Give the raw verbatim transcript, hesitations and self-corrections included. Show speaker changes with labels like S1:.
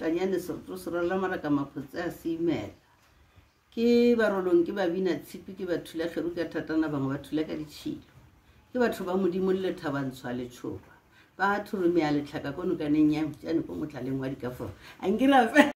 S1: Mokanyane seroto se rwala maraka maphotse a se imela. Ke barolong ke babina tshipi ke ba thulageru ka thatana bangwe ba thula ka ditšhilo. Ke batho ba modimo le lethabantshwa letšhoba. Ba thoromea letlhaka ko nokaneng ya motšane ko motlhaleng wa dikaforo. A nkere